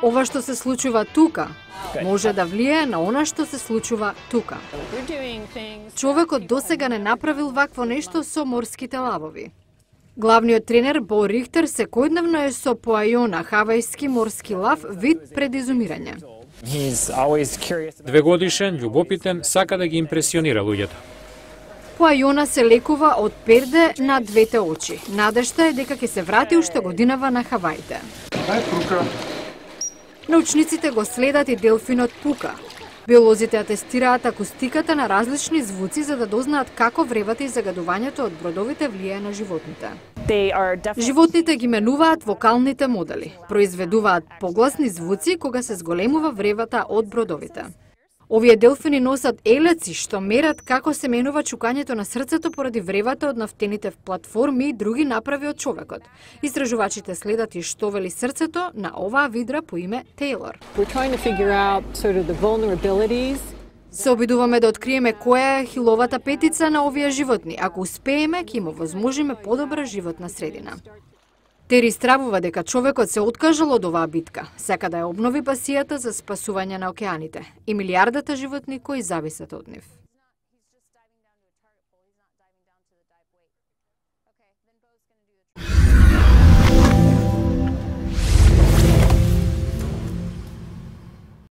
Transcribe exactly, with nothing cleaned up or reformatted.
Ова што се случува тука може да влијае на она што се случува тука. Човекот досега не направил вакво нешто со морските лавови. Главниот тренер Бо Рихтер секојдневно е со поајона, хавајски морски лав, вид пред изумирање. Двегодишен, љубопитен, сака да ги импресионира луѓето. Поајона се лекува од перде на двете очи. Надежта е дека ќе се врати уште годинава на Хаваите. Научниците го следат и делфинот Пука. Биолозите атестираат акустиката на различни звуци за да дознаат како вревата и загадувањето од бродовите влијае на животните. Животните ги менуваат вокалните модели. Произведуваат погласни звуци кога се зголемува вревата од бродовите. Овие делфини носат елеци што мерат како се менува чукањето на срцето поради вревата од нафтените платформи и други направи од човекот. Истражувачите следат и што вели срцето на оваа видра по име Тейлор. Се обидуваме да откриеме која е хиловата петица на овие животни. Ако успееме, ќе им овозможиме подобра животна средина. Тери стравува дека човекот се откажал од оваа битка. Сака да ја обнови пасијата за спасување на океаните и милијардата животни кои зависат од нив.